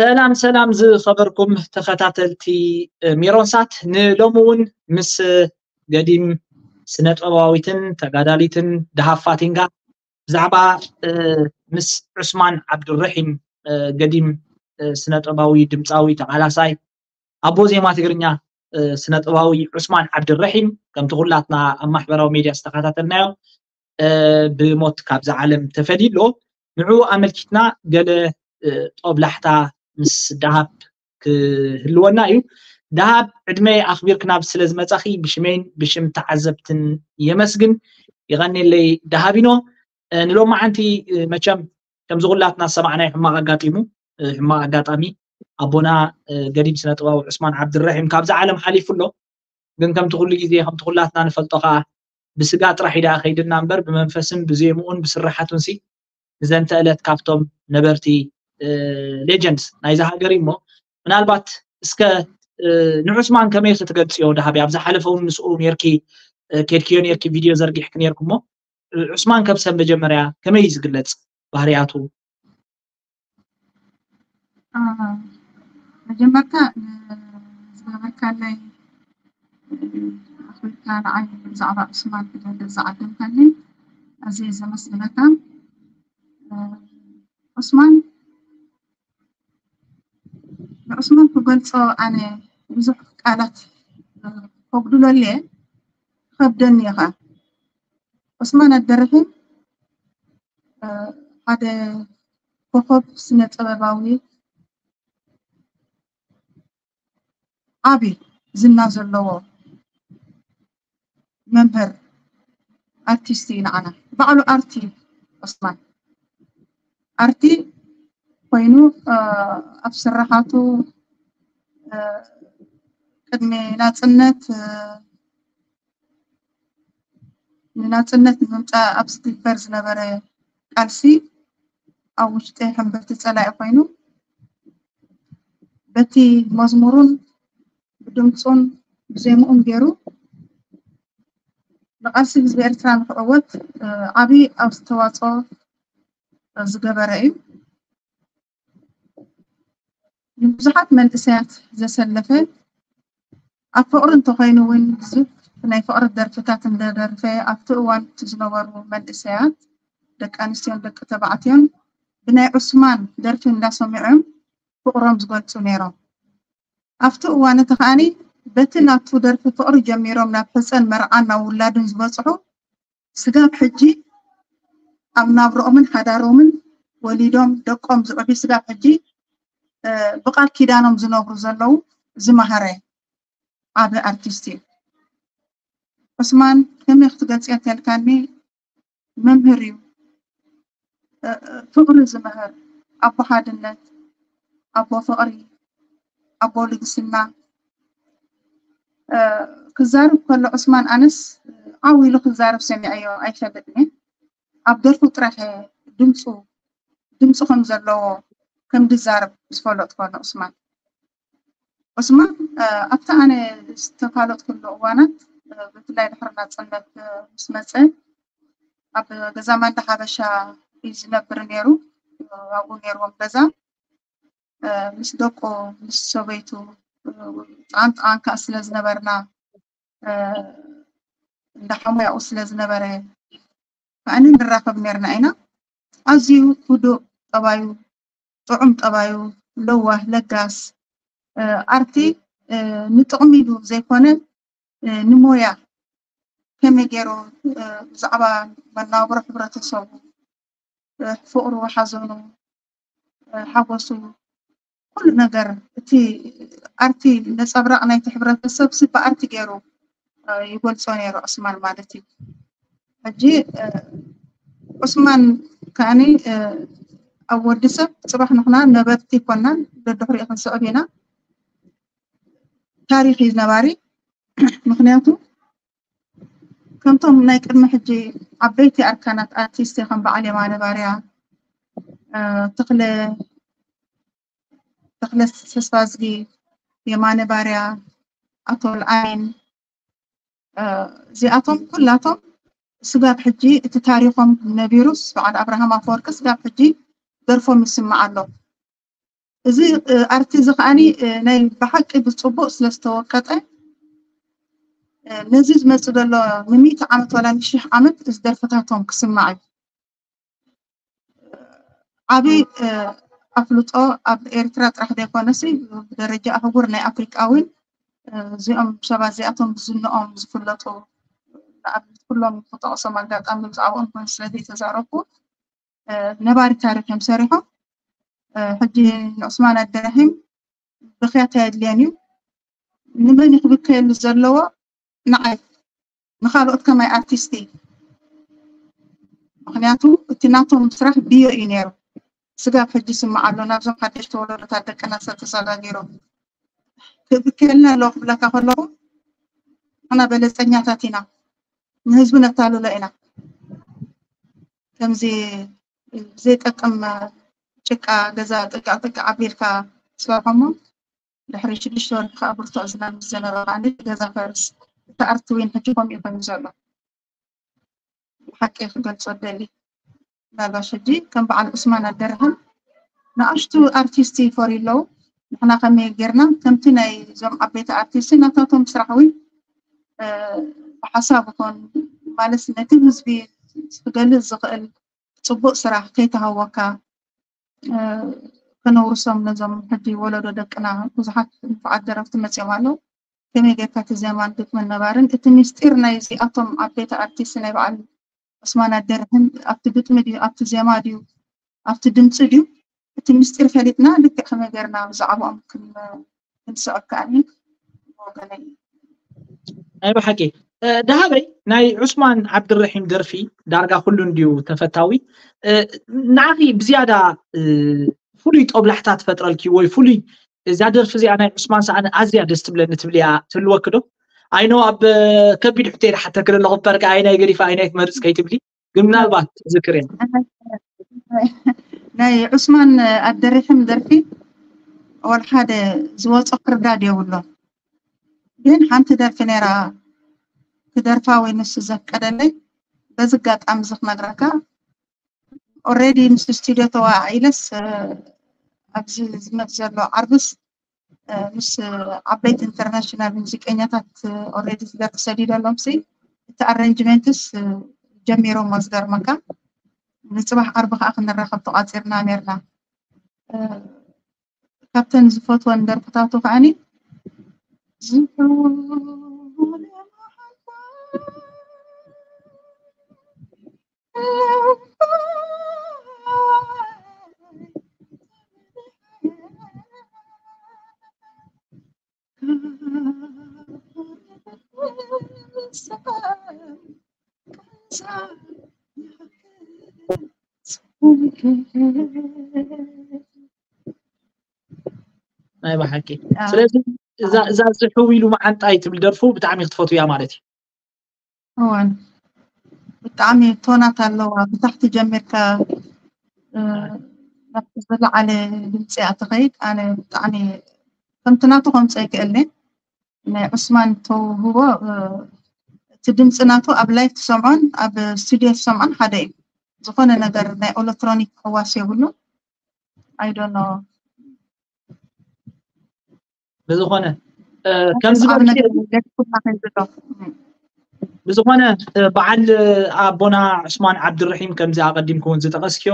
ሰላም ሰላም ዝኸበርኩም ተኸታተልቲ ሜሮንሳት፣ ንሎሚ እውን ምስ ገዲም ስነጥበባዊትን ተጋዳሊትን ደሃብ ፋቲንጋ ብዛዕባ ምስ ዑስማን ዓብዱረሒም፣ ገዲም ስነጥበባዊ ድምፃዊ ተቓላሳይ ኣቦ ዜማ ትግርኛ ስነጥበባዊ ዑስማን ዓብዱረሒም፣ ከምቲ ኩላትና ኣብ ማሕበራዊ ሜድያ ዝተኸታተልናዮ፣ ብሞት ካብዛ ዓለም ተፈልዩ ኣሎ። ንዕኡ ኣመልኪትና ገለ ጦብላሕታ ምስ ደሃብ ክህልወና እዩ። ደሃብ፣ ዕድመይ ኣኽቢርኪ ናብ ስለ ዝመጻኺ ብሽመይን ብሽም ተዓዘብትን የመስግን። ይቐኔለይ ደሃቢኖ። ንሎማዓንቲ መቸም ከምዚ ኩላትና ዝሰማዕናዮ ሕማቕ ኣጋጢሙ፣ ሕማቕ ኣጋጣሚ ኣቦና ገዲም ስነ ጥበባዊ ዑስማን ዓብድረሒም ካብዛ ዓለም ሓሊፉ ኣሎ። ግን ከምቲ ኩሉ ግዜ፣ ከምቲ ኩላትና ንፈልጦ ከዓ፣ ብስጋ ጥራሕ ኢዳ ከይድና እምበር ብመንፈስን ብዜምኡን ብስራሓቱን ሲ ንዘንተ ዕለት ካብቶም ነበርቲ ሌጀንድስ ናይዚ ሃገር እዩ። እሞ ምናልባት እስከ ንዑስማን ከመይ ክትገልፅዮ? ደሃቢ ኣብ ዝሓለፈ እውን ምስኡ ኔርኪ፣ ኬድክዮ ኔርኪ፣ ቪድዮ ዘርጊሕኪ ኔርኩ። እሞ ዑስማን ከብሰብ መጀመርያ ከመይ እዩ ዝግለፅ ባህርያቱ? መጀመርታ ዝገበርካለይ ኣኽቢርካ ንዓይ ብዛዕባ ዑስማን ክገልፅ ዝዓደምካኒ ኣዝየ ዘመስግነካ። ዑስማን ንዑስማን ክገልፆ ኣነ ብዙሕ ቃላት ከጉድለሉ እየ፣ ክኸብደኒ እዩ ኸዓ። ዑስማን ዓብደረሒም ሓደ ኮኾብ ስነ ጥበባዊ ዓቢ ዝና ዘለዎ መምህር ኣርቲስት እዩ። ንዓና ባዕሉ ኣርቲ ዑስማን ኣርቲ ኮይኑ ኣብ ስራሓቱ ቅድሚ ናፅነት ንናፅነት ንምምፃእ ኣብ ዝግበር ዝነበረ ቃልሲ ኣብ ውሽጢ ሕምብርቲ ፀላኢ ኮይኑ በቲ መዝሙሩን ብድምፁን ብዜምኡን ገይሩ ንቃልሲ ህዝቢ ኤርትራ ንክዕወት ዓብዪ ኣስተዋፅኦ ዝገበረ እዩ። ንብዙሓት መንእሰያት ዘሰለፈ፣ ኣብ ፍቕሪ እንተኾይኑ እውን ብዙሕ ናይ ፍቕሪ ደርፍታት እንደደርፈ ኣብቲ እዋን እቲ ዝነበሩ መንእሰያት ደቂ ኣንስትዮን ደቂ ተባዕትዮን ብናይ ዑስማን ደርፊ እንዳሰሚዖም ፍቕሮም ዝገልፁ ነይሮም። ኣብቲ እዋን እቲ ከዓኒ በቲ ናቱ ደርፊ ፍቕሪ ጀሚሮም ናብ ሕፀን መርዓን ናብ ውላድን ዝበፅሑ ስጋብ ሕጂ ኣብ ናብርኦምን ሓዳሮምን ወሊዶም ደቆም ዝዕብዩ ስጋብ ሕጂ ብቃል ኪዳኖም ዝነብሩ ዘለዉ ዝመሃረ ዓቢ ኣርቲስት እዩ። ዑስማን ከመይ ክትገልፅዮ እንተልካኒ መምህር እዩ። ፍቕሪ ዝምህር፣ ኣቦ ሓድነት፣ ኣቦ ፍቕሪ፣ ኣቦ ልግስና ክዛረብ ከሎ ዑስማን ኣነስ ዓው ኢሉ ክዛረብ ሰሚዐዮ ኣይፈልጥን እየ። ኣብ ደርፉ ጥራሕ ድምፁ ድምፁ ከም ዘለዎ ከም ዝዛረብ ዝፈለጥኩ ኣሎ ዑስማን። ዑስማን ኣብቲ ኣነ ዝተፋለጥኩሉ እዋናት ብፍላይ ድሕሪ ናፅነት ምስ መፀ ኣብ ገዛ ማንዳ ሓበሻ እዩ ዝነብር ነይሩ። ኣብኡ ነይርዎም ገዛ ምስ ደቁ ምስ ሰበይቱ ጥቓን ጥቓን ከዓ ስለ ዝነበርና እንዳ ሓሙያኡ ስለ ዝነበረ ከዓኒ ንራኸብ ነርና ኢና። ኣዝዩ ህዱእ ጠባዩ፣ ጥዑም ጠባዩ፣ ለዋህ፣ ለጋስ፣ ኣርቲ ንጥቕሚ ኢሉ ዘይኮነ ንሞያ ከመይ ገይሩ ብዛዕባ መናብሮ ሕብረተሰቡ፣ ፍቕሩ፣ ሓዘኑ፣ ሓጎሱ፣ ኩሉ ነገር እቲ ኣርቲ ነፀብራቕ ናይቲ ሕብረተሰብ ሲ ብኣርቲ ገይሩ ይገልፆ ነይሩ ዑስማን ማለት እዩ። ሕጂ ዑስማን ከዓኒ ኣብ ወዲ ሰብ ፅባሕ ንሕና ነበርቲ ኣይኮናን፣ ደድሕሪኡ ክንስዕብ ኢና። ታሪክ እዩ ነባሪ። ምክንያቱ ከምቶም ናይ ቅድሚ ሕጂ ዓበይቲ ኣርካናት ኣርቲስት ከም በዓል የማነ ባርያ፣ ተክለ ተክለ ተስፋዝጊ፣ የማነ ባርያ፣ ኣቶ ልኣሚን እዚኣቶም ኩላቶም ስጋብ ሕጂ እቲ ታሪኾም ነቢሩስ በዓል ኣብርሃም ኣፈወርቂ ስጋብ ሕጂ ደርፎም ይስማዕ ኣሎ። እዚ ኣርቲ እዚ ከዓኒ ናይ ብሓቂ ብፅቡቅ ስለ ዝተወቀጠ ነዚ ዝመፅእ ዘሎ ንሚእቲ ዓመት ዋላ ንሽሕ ዓመት እዚ ደርፍታቶም ክስማዕ እዩ። ዓብይ ኣፍልጦ ኣብ ኤርትራ ጥራሕ ዘይኮነሲ ብደረጃ ኣህጉር ናይ ኣፍሪቃ እውን እዚኦም ሰባት እዚኣቶም ብዝንኦም ዝፍለጡ ንኣብነት ኩሎም ክጠቕሶም ኣጋጣሚ ብዛዕባኦም ኮነ ስለ ዘይተዛረብኩ ነባሪ ታሪክ እዮም ሰሪሖም። ሕጂ ንዑስማን ኣደረሂም ብክያት ኣየድልዮን እዩ። ንመን እዩ ክብከየሉ ዘለዎ? ንዓይ ንካልኦት ከማይ ኣርቲስት እዩ። ምክንያቱ እቲ ናቶም ስራሕ ብዮ እዩ ነይሩ። ስጋብ ሕጂ ይስማዕ ኣሎ ናብዞም ሓደሽቲ ወለዶታት ደቅና ሰብ ተሰጋጊሮም ክብከየልና ኣለዎ ክብለካ ከለኹ ንሕና በለፀኛታት ኢና። ንህዝቢ ነታልሎ ኢና። ከምዚ ዘይጠቅም ጭቃ ገዛ ጥቃ ጥቃ ኣቢልካ ትሰርሖሞ ድሕሪ ሽዱሽተ ወርሒ ከዓ ብርቱዕ ዝናብ ምስ ዘነበ ከዓ ገዛ ፈርስ። እቲ ኣርት ዊን ሕጂ ከምኡ እዩ ኮይኑ ዘሎ። ብሓቂ ክገልፆ ደሊ ምናልባሽ ሕጂ ከም በዓል ዑስማን ኣደረህን ንኣሽቱ ኣርቲስት ይፈርዩ ኣለዉ። ንሕና ከመይ ጌርና ከምቲ ናይ እዞም ዓበይቲ ኣርቲስት ናታቶም ስራሕ እውን ብሓሳብ ይኹን ማለት ነቲ ህዝቢ ክገልፅ ዝኽእል ፅቡቅ ስራሕ ከይተሃወካ ከነውርሶም ነዞም ሕጂ ወለዶ ደቅና ብዙሓት ንፉዓት ደረፍቲ መፅኦም ኣለዉ። ከመይ ጌርካ እቲ ዜማን ግጥምን ነባርን እቲ ምስጢር ናይ እዚኣቶም ዓበይቲ ኣርቲስት ናይ በዓል ዑስማን ኣደርህን ኣብቲ ግጥሚ ድዩ ኣብቲ ዜማ ድዩ ኣብቲ ድምፂ ድዩ እቲ ምስጢር ፈሊጥና ልክዕ ከመይ ጌርና ብዛዕባኦም ክንስዕብ ከኣኒ ወገነይ። ናይ ብሓቂ ደሃበይ ናይ ዑስማን ዓብድረሒም ደርፊ ዳርጋ ኩሉ እንድዩ ተፈታዊ። ንዓኺ ብዝያዳ ፍሉይ ጦብላሕታ ትፈጥረልኪ ወይ ፍሉይ እዛ ደርፊ እዚኣ ናይ ዑስማን ሰኣን ኣዝያ ደስ ትብለኒ ትብልያ ትህልወኪ ዶ? ኣይኖ ኣብ ከቢድ ሕቶ ኢለ ሓተኪ ዘለኹ እምበርካ ኣይናይ ገዲፈ ኣይናይ ትመርፅ ከይትብሊ ግን ምናልባት ትዝክር እያ። ናይ ዑስማን ኣደሪሕም ደርፊ ወላ ሓደ ዝወፆ ክርዳድ የብሎ። ግን ሓንቲ ደርፊ ነይራ ክደርፋ ወይ ንሱ ዘፍቀደለይ በዚ ኣጋጣሚ እዚ ክነግረካ ኦሬዲ ምስ ስቱዲዮ ተዋኢለስ ኣብዚ ዝመፅ ዘሎ ዓርብስ ምስ ዓበይቲ ኢንተርናሽናል ሙዚቀኛታት ኦሬዲ ዝደርፊ ሰዲደሎም ሲ እቲ ኣረንጅመንትስ ጀሚሮሞ ዝገርመካ ንፅባሕ ዓርቢ ከዓ ክንራኸብ ተቋፂርና ነርና። ካብተን ዝፈትወን ደርፍታቱ ከዓኒ ዝሑል ናይ ብሓቂ ስለዚ እዛ ዝሕው ኢሉ መዓንጣይ ትብል ደርፉ ብጣዕሚ ክትፈትውያ ማለት እዩ። እዋን ብጣዕሚ ቶናት ኣለዋ ብታሕቲ ጀሚርካ ናብቲ ዝለዓለ ድምፂ እያ ትኸይድ። ኣነ ብጣዕሚ ከምቲ ናቱ ከምፅኦ ይክእል ናይ ዑስማን ተውህቦ እቲ ድምፂ ናቱ ኣብ ላይፍ ትሰምዖን ኣብ ስቱድዮ ትሰምዖን ሓደ እዩ። ዝኾነ ነገር ናይ ኤሌክትሮኒክ ሕዋስ የብሉ። I don't know። ብዝኾነ ከምዝበልክዮ ብዝኾነ በዓል ኣቦና ዑስማን ዓብድርሒም ከምዚ ኣቐዲምኩ እውን ዝጠቐስክዮ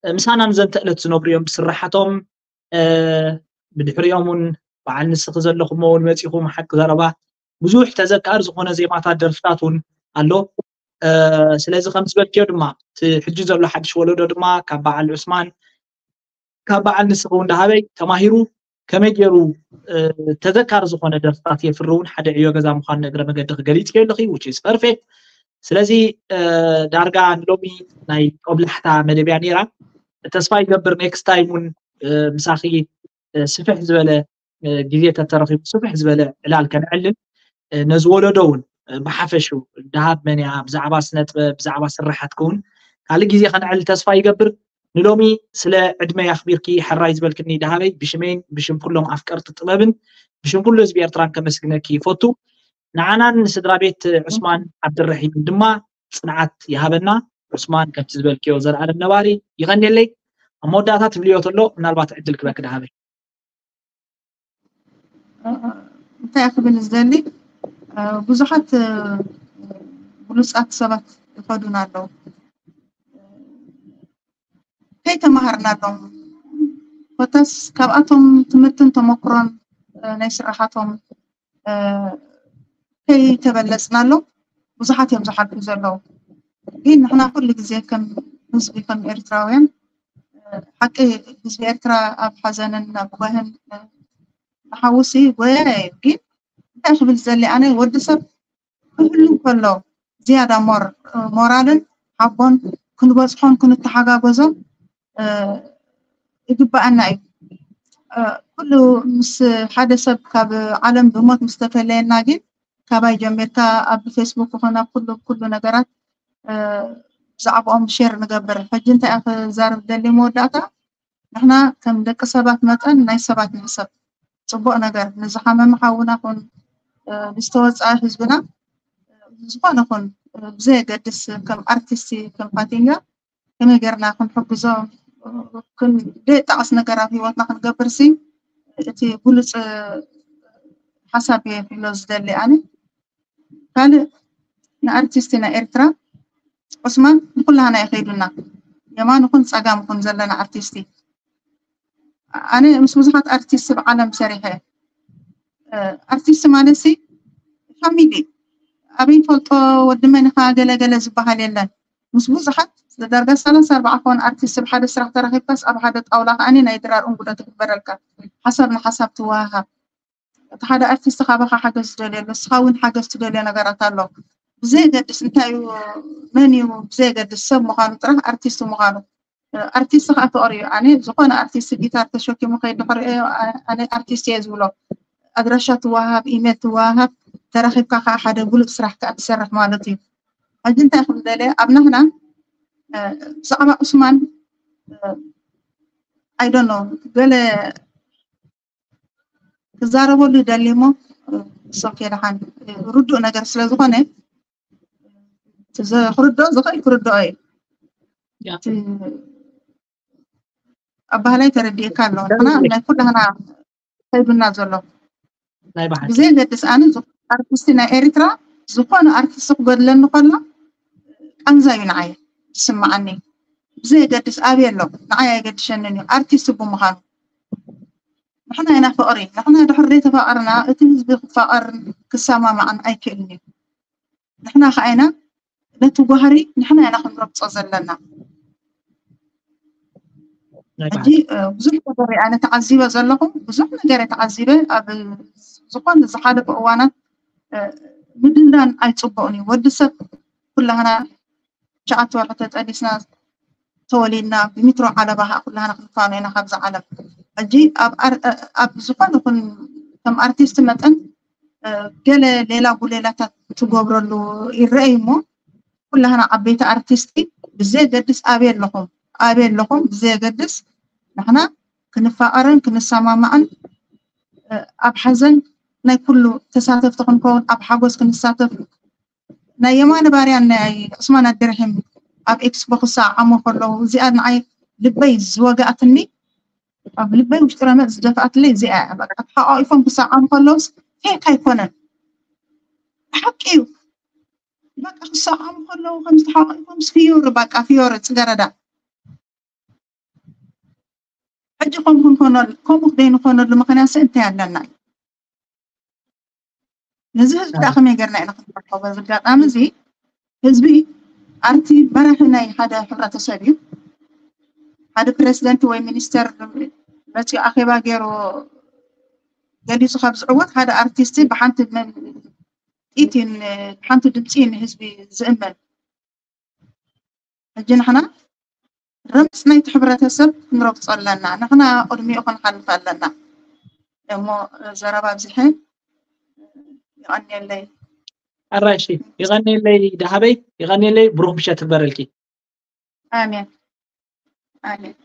ምሳና ንዘንተ ዕለት ዝነብሩ እዮም ብስራሓቶም ብድሕሪኦም እውን በዓል ንስኺ ዘለኹሞ እውን መፂኹም ሓቂ ዘረባ ብዙሕ ተዘካር ዝኾነ ዜማታት ደርፍታት እውን ኣሎ። ስለዚ ከም ዝበልክዮ ድማ እቲ ሕጂ ዘሎ ሓድሽ ወለዶ ድማ ካብ በዓል ዑስማን ካብ በዓል ንስኺ እውን ደሃበይ ተማሂሩ ከመይ ገይሩ ተዘካሪ ዝኾነ ደርፍታት የፍሪ እውን ሓደ ዕዮ ገዛ ምዃኑ እግረ መገዲ ክገሊፅ ኣለኺ which is perfect። ስለዚ ዳርጋ ንሎሚ ናይ ጦብላሕታ መደብያ ነይራ። ተስፋ ይገብር ኔክስት ታይም እውን ምሳኺ ስፍሕ ዝበለ ግዜ ተተረኺቡ ስፍሕ ዝበለ ዕላል ከነዕልል ነዚ ወለዶ እውን ብሓፈሹ ደሃብ መን እያ ብዛዕባ ስነ ጥበብ ብዛዕባ ስራሓትኪ እውን ካልእ ግዜ ከነዕልል ተስፋ ይገብር። ንሎሚ ስለ ዕድመይ ኣኽቢርኪ ሕራይ ዝበልክኒ ደሃበይ ብሽመይን ብሽም ኩሎም ኣፍቀርቲ ጥበብን ብሽም ኩሉ ህዝቢ ኤርትራን ከመስግነኪ ይፈቱ። ንዓናን ንስድራ ቤት ዑስማን ዓብድረሒምን ድማ ፅንዓት ይሃበና። ዑስማን ከምቲ ዝበልክዮ ዘልኣለም ነባሪ ይቐንየለይ። ኣብ መወዳእታ ትብልዮ ተሎ ምናልባት ዕድል ክበክ ደሃበይ። እንታይ ክብል ዝደሊ፣ ብዙሓት ብሉፃት ሰባት ይኸዱና ኣለዉ። ከይተማሃርናሎም፣ ኮታስ ካብኣቶም ትምህርትን ተመክሮን ናይ ስራሓቶም ከይተበለፅናሎም ብዙሓት እዮም ዝሓልፉ ዘለዉ። ግን ንሕና ኩሉ ግዜ ከም ህዝቢ፣ ከም ኤርትራውያን፣ ሓቂ ህዝቢ ኤርትራ ኣብ ሓዘንን ኣብ ጓህን ንሓውሲ ጎያ እዩ። ግን እንታይ ክብል ዘሊ ኣነ፣ ወዲ ሰብ ክህሉ ከሎ ዝያዳ ሞር ሞራልን ሓቦን ክንበፅሖን ክንተሓጋገዞ ይግባኣና እዩ። ኩሉ ምስ ሓደ ሰብ ካብ ዓለም ብሞት ምስ ተፈለየና ግን ካባይ ጀሚርካ ኣብ ፌስቡክ ይኹን ኣብ ኩሉ ኩሉ ነገራት ብዛዕባኦም ሼር ንገብር። ሕጂ እንታይ እየ ክዛረብ ደሊ መወዳእታ፣ ንሕና ከም ደቂ ሰባት መጠን ናይ ሰባት ንሕሰብ። ፅቡቕ ነገር ንዝሓመመ ሓውና ኹን ንዝተወፅኣ ህዝብና ዝኾነ ኹን ብዘየገድስ ከም ኣርቲስቲ ከም ፋቲንጋ ከመይ ጌርና ክንሕግዞ ክንደይ ጣዕስ ነገር ኣብ ህይወትና ክንገብር ሲ እቲ ብሉፅ ሓሳብ እየ ክብሎ ዝደሊ ኣነ። ካልእ ንኣርቲስቲ ናይ ኤርትራ ዑስማን ንኩላህና ይኸይዱና፣ የማን ይኹን ፀጋም ይኹን ዘለና ኣርቲስቲ። ኣነ ምስ ብዙሓት ኣርቲስት ብዓለም ሰሪሐ። ኣርቲስት ማለት ሲ ፋሚሊ፣ ኣበይ ፈልጦ፣ ወዲ መን ኢኻ፣ ገለ ገለ ዝበሃል የለን። ምስ ብዙሓት ዳርጋ ሰላሳ ኣርባዓ ክኾን ኣርቲስት ብሓደ ስራሕ ተራኺብካስ ኣብ ሓደ ጣውላ ከኣኒ ናይ ድራር እንጉዶ ትግበረልካ፣ ሓሳብ ንሓሳብ ትወሃሃብ። እቲ ሓደ ኣርቲስት ካባኻ ሓገዝ ትደልዮ ኣሎ፣ ንስኻ እውን ሓገዝ ትደልዮ ነገራት ኣሎ። ብዘየገድስ እንታይ እዩ፣ መን እዩ፣ ብዘየገድስ ሰብ ምዃኑ ጥራሕ ኣርቲስት ምዃኑ። ኣርቲስት ከዓ ፍቕሪ እዩ። ኣነ ዝኾነ ኣርቲስት ጊታር ተሸኪሙ ከይድ ድሕሪኦ ኣነ ኣርቲስት እየ ዝብሎ። ኣድራሻ ትወሃሃብ፣ ኢሜል ትወሃሃብ፣ ተራኺብካ ከዓ ሓደ ብሉፅ ስራሕ ከዓ ትሰርሕ ማለት እዩ። ሕጂ እንታይ ክብል ደልየ፣ ኣብ ናህና ብዛዕባ ዑስማን ኣይዶኖ ገለ ክዛረበሉ ይደሊ እሞ ሶኬ ደሓን ርዱእ ነገር ስለ ዝኾነ ክርድኦ ዝኽእል ክርድኦ እዩ። ኣባህላይ ተረዲእካ ኣሎ። ንሕና ናይ ኩላህና ከይዱና ዘሎ ናይ ባህል ብዘየገድስ ኣነ ኣርቲስቲ ናይ ኤርትራ ዝኾነ ኣርቲስቲ ክጎድለኒ ከሎ ቃንዛ እዩ ንዓይ ዝስምዓኒ። ብዘየገድስ ኣበይ ኣሎ ንዓይ ኣይገድሸንን እዩ ኣርቲስቲ ብምዃኑ። ንሕና ኢና ፍቕሪ፣ ንሕና ድሕሪ ዘይተፋቐርና እቲ ህዝቢ ክፋቐርን ክሰማማዕን ኣይክእልን እዩ። ንሕና ከዓ ኢና ነቲ ጓህሪ ንሕና ኢና ክንረግጾ ዘለና። ሕጂ ብዙሕ ነገር ኣነ ተዓዚበ ዘለኹ፣ ብዙሕ ነገር ተዓዚበ። ኣብ ዝኾነ ዝሓለፈ እዋናት ምድንዳን ኣይፅቡቕን እዩ። ወዲ ሰብ ኩላህና ትሽዓተ ወርሒ ተጠሊስና ተወሊድና ብሚትሮ ዓለባ ከዓ ኩላህና ክንፋኖ ኢና ካብዚ ዓለም። ሕጂ ኣብ ዝኾነ ይኹን ከም ኣርቲስት መጠን ገለ ሌላ ጉሌላታት ትገብረሉ ይረአይ እሞ ኩላህና ዓበይቲ ኣርቲስቲ ብዘየገድስ ኣበይ ኣለኹም ኣበይ ኣለኹም ብዘየገድስ ንሕና ክንፋቐርን ክንሰማማዕን ኣብ ሓዘን ናይ ኩሉ ተሳተፍቲ ክንከውን ኣብ ሓጎስ ክንሳተፍ ናይ የማነ ባርያን ናይ ዑስማን ኣደርሒም ኣብ ኤክስፖ ክሰዓዓሙ ከለዉ እዚኣ ንዓይ ልበይ ዝወግኣትኒ ኣብ ልበይ ውሽጢ ረመፅ ዝደፍኣትለይ እዚኣ እያ። በቃ ተሓቋቂፎም ክሰዓዓሙ ከለውስ ፌክ ኣይኮነን ብሓቂ እዩ። በቃ ክሰዓዓሙ ከለዉ ከምዚ ተሓቋቂፎምስ ፍዮሪ በቃ ፍዮሪ ፅገረዳ ሕጂ ከምኡ ክንኮነሉ ከምኡ ክደይንኮነሉ ምክንያት እንታይ ኣለና እዩ? ነዚ ህዝቢ ደኣ ከመይ ጌርና ኢና ክንረከቦ? በዚ ኣጋጣሚ እዚ ህዝቢ ኣርቲ መራሒ ናይ ሓደ ሕብረተሰብ እዩ። ሓደ ፕሬዚደንት ወይ ሚኒስተር መፂኡ ኣኼባ ገይሩ ገሊፁ ካብ ዝዕወት ሓደ ኣርቲስቲ ብሓንቲ ጥይት ብሓንቲ ድምፂ ንህዝቢ ዝእመን ሕጂ ንሕና ረምፅ ናይቲ ሕብረተሰብ ክንረግፆ ኣለና። ንሕና ቅድሚኡ ክንሓልፍ ኣለና። እሞ ዘረባ ኣብዚሐ ይቐንየለይ። ኣራሺ ይቐንየለይ ደሃበይ ይቐንየለይ ብሩክ ምሸት ትግበረልኪ። ኣሜን ኣሜን።